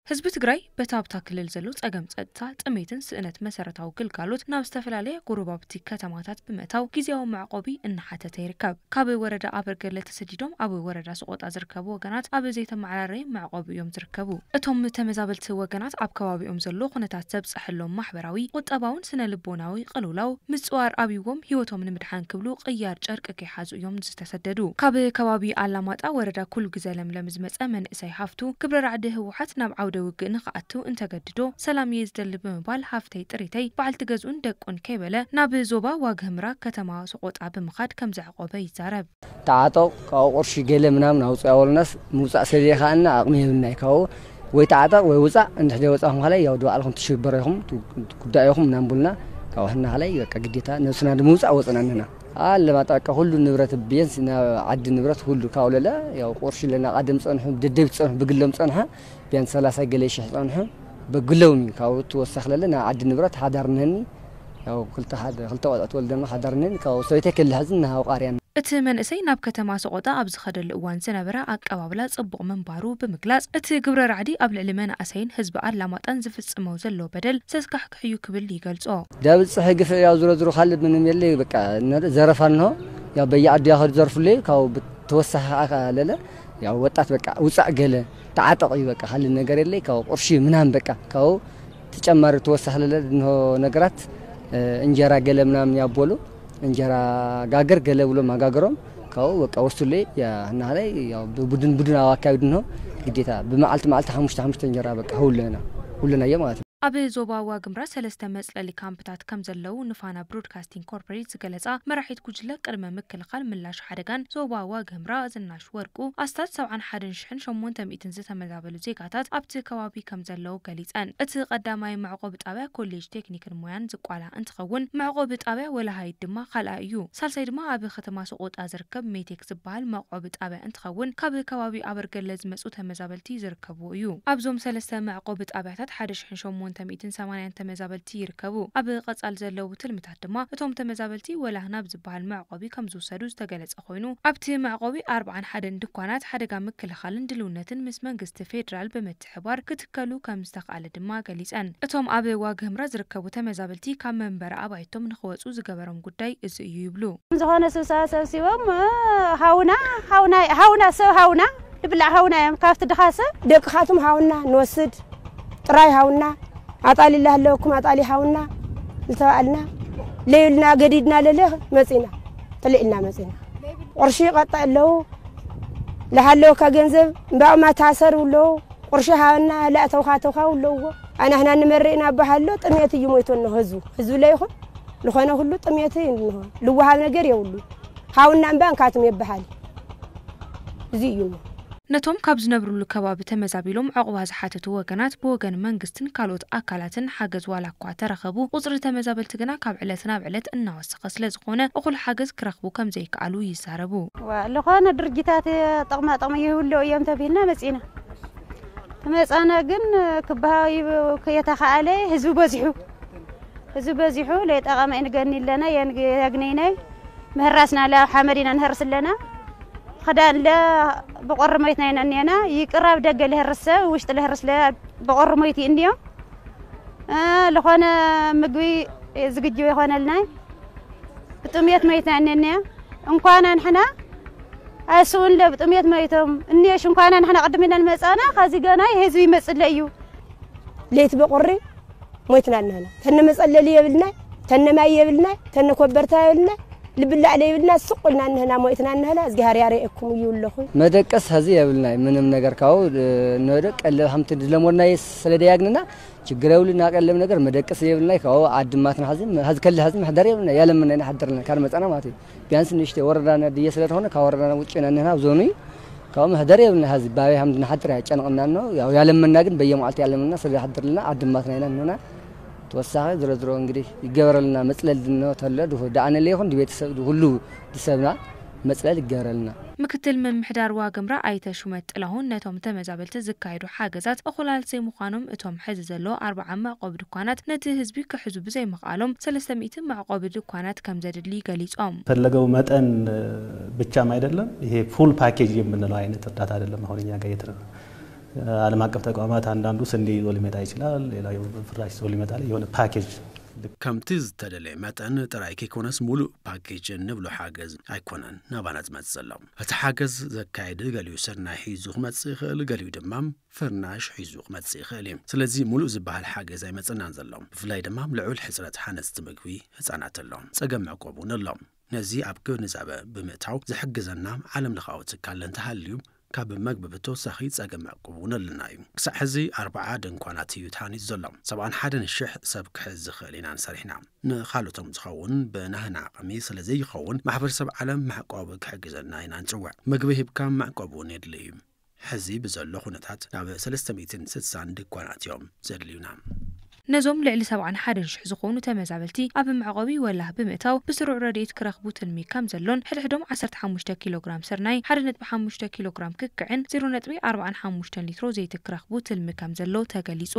ህዝቢ ትግራይ በቲ ኣብታ ክልል ዘሎ ጸገም ጸጥታ፣ ጥሜትን ስእነት መሰረታዊ ግልጋሎት ናብ ዝተፈላለያ ጎረባብቲ ከተማታት ብምእታው ግዜያዊ መዕቆቢ እናሓተተ ይርከብ። ካብ ወረዳ ኣበርገለ ተሰዲዶም ኣብ ወረዳ ሰቆጣ ዝርከቡ ወገናት ኣብ ዘይተመዓራረየ መዕቆቢ እዮም ዝርከቡ። እቶም ተመዛበልቲ ወገናት ኣብ ከባቢኦም ዘሎ ኩነታት ዘብፀሐሎም ማሕበራዊ፣ ቁጠባውን ስነ ልቦናዊ ቅልውላው ምጽዋር ኣብይዎም ህይወቶም ንምድሓን ክብሉ ቅያር ጨርቂ ከይሓዙ እዮም ዝተሰደዱ። ካብ ከባቢ ኣላማጣ ወረዳ ኩሉ ግዜ ለምለም ዝመጸ መንእሰይ ሃፍቱ፣ ግብረ ራዕዲ ህወሓት ናብ ዓውደ ውግእ ንኽኣቱ እንተገድዶ ሰላም እየ ዝደሊ ብምባል ሃፍተይ ጥሪተይ በዓልቲ ገዝኡን ደቁን ከይበለ ናብ ዞባ ዋግ ህምራ ከተማ ሰቆጣ ብምኻድ ከም ዘዕቆበ ይዛረብ። ተዓጠቕ፣ ካብኡ ቅርሺ ገለ ምናምን ኣውፅእ ኣበሉናስ ምውፃእ ስለዘይከኣልና ኣቕሚ የብልናይ። ካብኡ ወይ ተዓጠቕ ወይ ውፃእ፣ እንድሕር ዘይወፃእኹም ከላይ ያው ድባዕልኹም ትሽበረ ኢኹም፣ ቱ-፣ ጉዳይ ኢኹም እናንቡልና ካብኡ ሕና ከላይ በቃ ግዴታ ነብስና ንምውፃእ ወፅና ንሕና። ኣለማጣ በቃ ኩሉ ንብረት ቢያንስ ናብ ዓዲ ንብረት ሁሉ ካብኡ ለለ ያው ቁርሺ ለና ቃደም ፀንሑ፣ ደደቢት ፀንሑ፣ ብግሎም ፀንሐ ቢያንስ ሰላሳ ገለ ሽሕ ፀንሑ ብግሎም እዩ። ካብኡ ትወሳኽ ለለ ናብ ዓዲ ንብረት ሓዳር ንህኒ ያው ክልተ ሓደ፣ ክልተ ቆልዑ ትወልደና ሓዳር ንህኒ ካብኡ ሰበይተይ ከልሕዝን ንሃው ቃርያን። እቲ መንእሰይ ናብ ከተማ ሰቆጣ ኣብ ዝኸደሉ እዋን ዝነበረ ኣቀባብላ ጽቡቕ ምንባሩ ብምግላጽ፣ እቲ ግብረ ራዕዲ ኣብ ልዕሊ መናእሰይን ህዝቢ ኣላማጣን ዝፍጽሞ ዘሎ በደል ዘስካሕክሕ እዩ ክብል ይገልጾ። ዳብጽሕ ግፍዕ ያው ዝሮ ዝሮ ካልእ ምንም የለ፣ በቃ፣ እነ-፣ ዘረፋ እንሆ፣ ያው በየዓዲ ያኸዱ ዘርፉለይ፣ ካብ ብተወሳኺ ከኣ ለለ፣ ያው ወጣት በቃ፣ ውጻእ ገለ፣ ተዓጠቕ እዩ በቃ፣ ካልእ ነገር የለይ፣ ካብ ቁርሺ ምናምን በቃ፣ ካብ ተጨማሪ ተወሳኺ ለለ እንሆ ነገራት፣ እ፣ እንጀራ ገለ ምናምን ያቦሉ፣ እንጀራ ጋገር ገለ ብሎም ኣጋገሮም፣ ካብኡ በቃ ወስዱለይ፣ ያ፣ እናሃለይ፣ ያው ብቡድን ቡድን ኣብ ኣካቢድ እንሆ፣ ግዴታ ብመዓልቲ መዓልቲ ሓሙሽተ ሓሙሽተ እንጀራ በቃ ሁለና፣ ሁለናዮ ማለት ነው። ኣብ ዞባ ዋግምራ ሰለስተ መጽለሊ ካምፕታት ከም ዘለዉ ንፋና ብሮድካስቲንግ ኮርፖሬት ዝገለጻ መራሒት ጉጅለ ቅድመ ምክልኻል ምላሽ ሓደጋን ዞባ ዋግምራ ዝናሽ ወርቁ፣ ኣስታት ሰብዓን ሓደን ሽሕን ሸሞንተ ሚእትን ዝተመዛበሉ ዜጋታት ኣብቲ ከባቢ ከም ዘለዉ ገሊጸን። እቲ ቀዳማይ መዕቆቢ ጣብያ ኮሌጅ ቴክኒክን ሞያን ዝቋላ እንትኸውን፣ መዕቆቢ ጣብያ ወላሃይት ድማ ካልኣይ እዩ። ሳልሳይ ድማ ኣብ ከተማ ሰቆጣ ዝርከብ ሜቴክ ዝበሃል መዕቆቢ ጣብያ እንትኸውን፣ ካብ ከባቢ ኣበርገለ ዝመጹ ተመዛበልቲ ዝርከብዎ እዩ። ኣብዞም ሰለስተ መዕቆቢ ጣብያታት ሓደ ሽሕን ሸሞንተ ሚእትን ሰማንያን ተመዛበልቲ ይርከቡ። ኣብ ቀጻል ዘለዉ ትልምታት ድማ እቶም ተመዛበልቲ ወላህ ናብ ዝበሃል መዕቆቢ ከም ዝውሰዱ ዝተገለጸ ኮይኑ፣ ኣብቲ መዕቆቢ ኣርብዓን ሓደን ድኳናት ሓደጋ ምክልኻልን ድልውነትን ምስ መንግስቲ ፌዴራል ብምትሕባር ክትከሉ ከም ዝተኽኣለ ድማ ገሊጸን። እቶም ኣብ ዋግ ህምራ ዝርከቡ ተመዛበልቲ ካብ መንበሪ ኣባይቶም ንኽወጹ ዝገበሮም ጉዳይ እዚ እዩ ይብሉ። ዝኾነ ስብሰባ ሰብሲቦም፣ እ፣ ሃውና፣ ሃውና፣ ሃውና፣ ሰብ ሃውና፣ ዝብላዕ ሃውና እዮም። ካብቲ ድኻ ሰብ ደቅኻትም ሃውና ንወስድ፣ ጥራይ ሃውና፣ ኣጣሊ ላሃለወኩም ኣጣሊ ሃውና ዝተባልና፣ ለይልና ገዲድና ለለ መጺና፣ ጥልዕ ኢልና መጺና። ቁርሺ ይቐጣ ኣለዉ፣ ለሃለወካ ገንዘብ እምባኡማ ታሰር ኣለዉ፣ ቁርሺ ሃበና፣ ላእተውካ ተውካ ኣለዎ። ኣናህና ንመርእ ኢና በሃሎ፣ ጥሜት እዩ ሞይቶ እንሆ ህዝቡ። ህዝቡ ለይኹን፣ ዝኾነ ሁሉ ጥሜት እዩ እንሆ። ልወሃብ ነገር የብሉ። ሃውና እምባ እንካትም ይበሃል። እዚ እዩ እሞ። ነቶም ካብ ዝነብሩሉ ከባቢ ተመዛቢሎም ዕቑባ ዝሓተቱ ወገናት ብወገን መንግስትን ካልኦት ኣካላትን ሓገዝ ዋላ እኳ ተረኸቡ፣ ቁጽሪ ተመዛበልቲ ግና ካብ ዕለት ናብ ዕለት እናወሰኸ ስለ ዝኾነ፣ እኹል ሓገዝ ክረኽቡ ከም ዘይከኣሉ ይዛረቡ። ዋ፣ ዝኾነ ድርጅታት ጥቕማ ጥቕሚ ይህልዎ እዮም ተቢልና መጺና። ተመጻና ግን ክበሃው ይብ-፣ ከየተኻኣለ ህዝቢ በዚሑ። ህዝቢ በዚሑ ለይጠቐመ ንገኒ ኣለና፣ የን-፣ የግነይናይ ምህራስና ለ ኣብ ሓመድ ኢና ንህርስ ኣለና። ክዳን ለ ብቆሪ ሞይትና ኢና እኒአና። ይቅር ኣብ ደገ ልህርስ ሰብ፣ ውሽጢ ልህርስ ለ ብቆሪ ሞይቲ እንዮ። እ፣ ልኾነ ምግቢ ዝግጅ ይኾነልናይ። ብጥሜት ሞይትና እኒአና። እንኳና ንሕና ኣይስኡን ለ ብጥሜት ሞይቶም። እኒሽ እንኳና ንሕና ቅድም ኢለን መጻና፣ ከዚ ገና ህዝቢ ይመጽእ እዩ። ለይቲ ብቁሪ ሞይትና እንህና። ተነ መጸለሊ የብልናይ፣ ተነ ማይ የብልናይ፣ ተነ ኮበርታ የብልናይ፣ ልብላዕ ለይብልና ስቕ ኢልና እንህና ሞይትና እንህና። እግዚኣብሔር ያርኤኩም እዩ ኣለኹ። መደቀስ ሀዚ የብልናይ፣ ምንም ነገር ካብኡ፣ እ፣ ንወደ ቀለብ ሃምቲ ድለሞድናይ ስለ ደያግንና ችግር የብልና። ቀለብ ነገር መደቀስ የብልናይ። ካብኡ ዓድማትና ሀዚ፣ ሀዚ ከለ ሀዚ መሕደር የብልና፣ ያለምና ኢና ሓደርና፣ ካር መጻና ማለት እዩ። ቢያንስ ንእሽተይ ወረዳና ድየ ስለ ዝኾነ፣ ካብ ወረዳና ውጭ ኢና እንህና፣ ኣብ ዞኑ እዩ። ካብኡ መሕደር የብልና፣ ሀዚ ባበይ ሃምቲ ንሓድር ያጨንቕና ነው። ያው ያለምና ግን በየመዓልቲ ያለምና ስለ ይሓድርልና፣ ዓድማትና ኢና እንህና። ተወሳኺ ዝሮ ዝሮ እንግዲህ ይገበረልና፣ መጽለል ድኖ ተሎ፣ ድሁ-፣ ደኣነለ ይኹን፣ ድቤተሰብ፣ ድሁሉ፣ ድሰብና መጽለል ይገበረልና። ምክትል ምምሕዳር ዋግምራ ኣይተ ሹመት ጥላሁን ነቶም ተመዛበልቲ ዝካየዱ ሓገዛት እኹላት ዘይምዃኖም፣ እቶም ሕዚ ዘሎ ኣርብዓ መዕቆቢ ድኳናት ነቲ ህዝቢ ክሕዙ ብዘይምኽኣሎም ሰለስተ ሚእቲ መዕቆቢ ድኳናት ከም ዘድሊ ገሊጾም። ፈለገው መጠን ብቻም አይደለም፣ ይሄ ፉል ፓኬጅ የምንለው አይነት እርዳታ አይደለም አሁን እኛ ጋር እየተደረገ። ዓለም አቀፍ ተቋማት አንዳንዱ ስንዴ ይዞ ሊመጣ ይችላል፣ ሌላ ፍራሽ ይዞ ሊመጣ፣ የሆነ ፓኬጅ። ከምቲ ዝተደለየ መጠን ጥራይ ከይኮነስ ሙሉእ ፓኬጅ እንብሎ ሓገዝ ኣይኮነን ናባና ዝመጽእ ዘሎ። እቲ ሓገዝ ዘካየድ ገሊኡ ስርናይ ሒዙ ክመጽእ ይኽእል፣ ገሊኡ ድማ ፍርናሽ ሒዙ ክመጽእ ይኽእል እዩ። ስለዚ ሙሉእ ዝበሃል ሓገዝ ኣይመጽእናን ዘሎ። ብፍላይ ድማ ልዑል ሕጽረት ሓነፅቲ ምግቢ ህጻናት ኣሎ። ጸገም መዕቆብ እውን ኣሎ። ነዚ ኣብ ግንዛበ ብምእታው ዝሕግዘና ዓለም ለኻዊ ትካል እንተሃልዩ ካብ መግቢ ብተወሳኺ ጸገም መዕቆብ እውን ኣለና እዩ። ክሳዕ ሕዚ ኣርባዓ ድንኳናት እዩ ተሃኒፁ ዘሎ። ሰብዓን ሓደን ሽሕ ሰብ ክሕዝ ዝኽእል ኢና ንሰሪሕና። ንኻልኦቶም ዝኸውን ብናህና ዓቕሚ ስለ ዘይኸውን ማሕበረሰብ ዓለም መዕቆብ ክሕግዘና ኢና ንፅውዕ። ምግቢ ሂብካ መዕቆብ እውን የድሊ እዩ። ሕዚ ብዘሎ ኩነታት ናብ ሰለስተ ሚእትን ስሳን ድኳናት እዮም ዘድልዩና። ነዞም ልዕሊ ሰብዓን ሓደን ሽሕ ዝኾኑ ተመዛበልቲ ኣብ መዕቆቢ ወላህ ብምእታው ብስሩዕ ረድኤት ክረኽቡ ትልሚ ከም ዘሎን ሕድሕዶም ዓሰርተ ሓሙሽተ ኪሎ ግራም ስርናይ፣ ሓደ ነጥቢ ሓሙሽተ ኪሎ ግራም ክክዕን ዜሮ ነጥቢ ኣርባዓን ሓሙሽተን ሊትሮ ዘይቲ ክረኽቡ ትልሚ ከም ዘሎ ተገሊጹ።